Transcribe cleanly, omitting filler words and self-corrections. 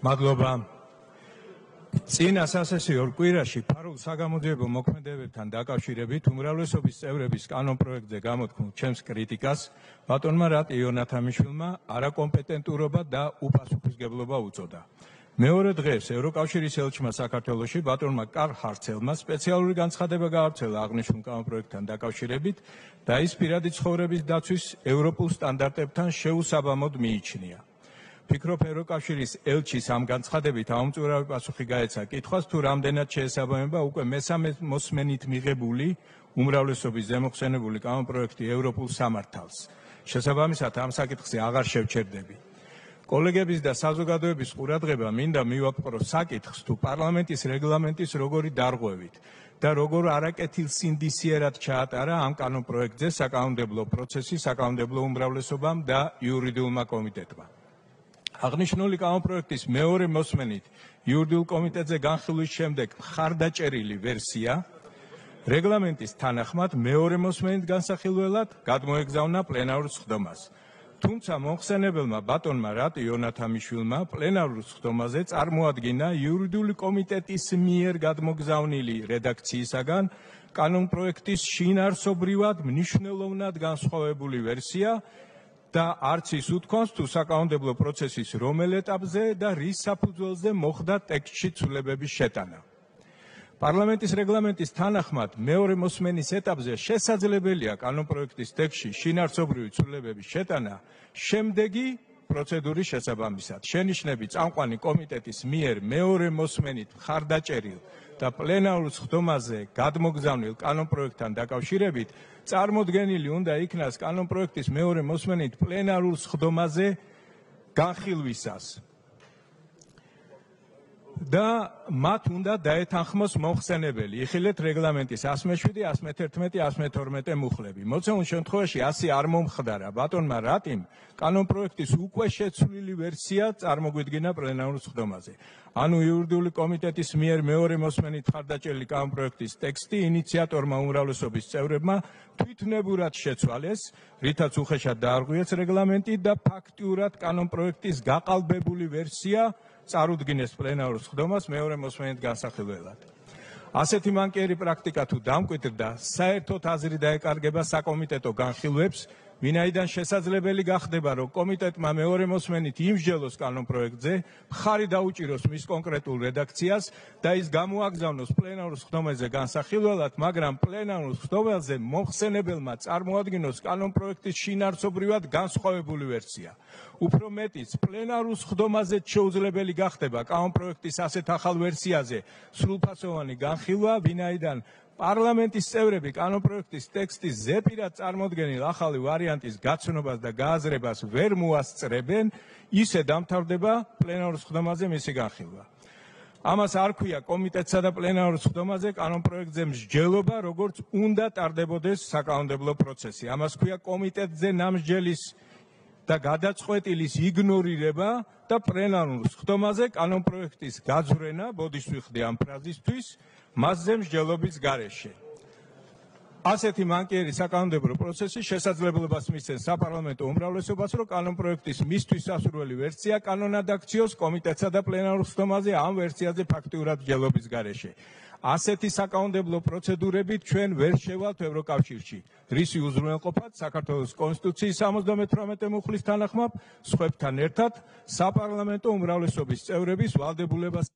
მადლობა. წინა სასესიო კვირაში ფარულ საგამოძიებო მოქმედებებთან დაკავშირებით უმრავლესობის წევრების კანონპროექტზე გამოთქმულ ჩემს კრიტიკას ბატონმა რატ იონათამიშვილმა არაკომპეტენტურობა და უპასუხისმგებლობა უწოდა. მეორე დღეს ევროკავშირის ელჩმა საქართველოში ბატონმა კარლ ჰარცელმა სპეციალური განცხადება გაავრცელა აღნიშნულ კანონპროექტთან დაკავშირებით და ის პირადი ცხოვრების დაცვის ევროპულ სტანდარტებთან შეუსაბამოდ მიიჩნია. ფიქრობ ევროკავშირის ელჩის ამ განცხადებით აუმწურავი პასუხი გაეცა კითხვას თუ რამდენად შეესაბამება უკვე მესამე მოსმენით მიღებული უმრავლესობის ზემოხსენებული კანონპროექტი ევროპულ სამართალს. შესაბამისად ამ საკითხზე აღარ შევჩერდები. კოლეგების და საზოგადოების ყურადღება მინდა მივაკპრო საკითხს თუ პარლამენტის რეგლამენტის როგორი დარღვევით და როგორ არაკეთილსინდისიერად ჩაატარა ამ კანონპროექტზე საკანონმდებლო პროცესი საკანონმდებლო უმრავლესობამ და იურიდიულმა კომიტეტმა. აღნიშნული კანონპროექტის მეორე მოსმენით იურიდიულ კომიტეტზე განხილვის შემდეგ მხარდაჭერილი ვერსია რეგლამენტის თანახმად მეორე მოსმენით განსახილველად გადმოეგზავნა პლენარულ სხდომას. თუმცა მომხსენებელმა ბატონმა რატ იონათამიშვილმა პლენარულ სხდომაზე წარმოადგინა იურიდიული კომიტეტის მიერ გადმოგზავნილი რედაქციისაგან კანონპროექტის შინაარსობრივად მნიშვნელოვნად განსხვავებული ვერსია და არც ის უთქვამს თუ საკანონმდებლო პროცესის რომელ ეტაპზე და რის საფუძველზე მოხდა ტექსტში ცვლილებების შეტანა. პარლამენტის რეგლამენტის თანახმად მეორე მოსმენის ეტაპზე შესაძლებელია კანონპროექტის ტექსტში შინაარსობრივი ცვლილებების შეტანა შემდეგი პროცედურის შესაბამისად. შენიშვნები წამყვანი კომიტეტის მიერ მეორე მოსმენით მხარდაჭერილ და პლენარულ სხდომაზე გადმოგზავნილ კანონპროექტთან დაკავშირებით წარმოდგენილი უნდა იქნას კანონპროექტის მეორე მოსმენით პლენარულ სხდომაზე განხილვისას და მათ უნდა დაეთანხმოს მომხსენებელი. იხილეთ რეგლამენტის 107, 111, 112 მუხლები. მოცემულ შემთხვევაში ასე არ მომხდარა. ბატონმა რატიმ კანონპროექტის უკვე შეცვლილი ვერსია წარმოგვიდგინა პლენარულ სხდომაზე. ანუ იურიდიული კომიტეტის მიერ მეორე მოსმენით მხარდაჭერილი კანონპროექტის ტექსტი ინიციატორმა უმრავლესობის წევრებმა თვითნებურად შეცვალეს, რითაც უხეშად დაარღვიეს რეგლამენტი და ფაქტიურად კანონპროექტის გაყალბებული ვერსია წარუდგინეს პლენარულ სხდომას მეორე მოსმენით განსახილველად. ასეთი მანკიერი პრაქტიკა თუ დამკვიდრდა, საერთოდ აზრი დაეკარგება საკომიტეტო განხილვებს, ვინაიდან შესაძლებელი გახდება, რომ კომიტეტმა მეორე მოსმენით იმსჯელოს კანონპროექტზე, მხარი დაუჭიროს მის კონკრეტულ რედაქციას და ის გამოაგზავნოს პლენარულ სხდომაზე განსახილველად, მაგრამ პლენარულ სხდომაზე მომხსენებელმა წარმოადგინოს კანონპროექტის შინაარსობრივად განსხვავებული ვერსია. უფრო მეტიც, პლენარულ სხდომაზე შეუძლებელი გახდება კანონპროექტის ასეთ ახალ ვერსიაზე სრულფასოვანი განხილვა, ვინაიდან პარლამენტის წევრები კანონპროექტის ტექსტის ზეპირად წარმოდგენილ ახალი ვარიანტის გაცნობას და გააზრებას ვერ მოასწრებენ, ისე დამთავრდება პლენარულ სხდომაზე მისი განხილვა. ამას არ ქვია კომიტეტსა და პლენარულ სხდომაზე კანონპროექტზე მსჯელობა, როგორც უნდა ტარდებოდეს საკანონმდებლო პროცესი. ამას ქვია კომიტეტზე ნამსჯელის და გადაწყვეტილის იგნორირება და პლენარულ სხდომაზე კანონპროექტის გაძვრენა, ბოდიშს ვიხდი ამ ფრაზისთვის, მასზე მსჯელობის გარეშე. ასეთი მანკიერი საკანონმდებლო პროცესი შესაძლებლობას მისცემს საპარლამენტო უმრავლესობას, რომ კანონპროექტის მისთვის სასურველი ვერსია კანონად აქციოს კომიტეტსა და პლენარულ სხდომაზე ამ ვერსიაზე ფაქტიურად მსჯელობის გარეშე. ასეთი საკანონმდებლო პროცედურებით ჩვენ ვერ შევალთ ევროკავშირში, რისი უზრუნველყოფად საქართველოს კონსტიტუციის 78 მუხლის თანახმად სხვებთან ერთად საპარლამენტო უმრავლესობის წევრების ვალდებულებას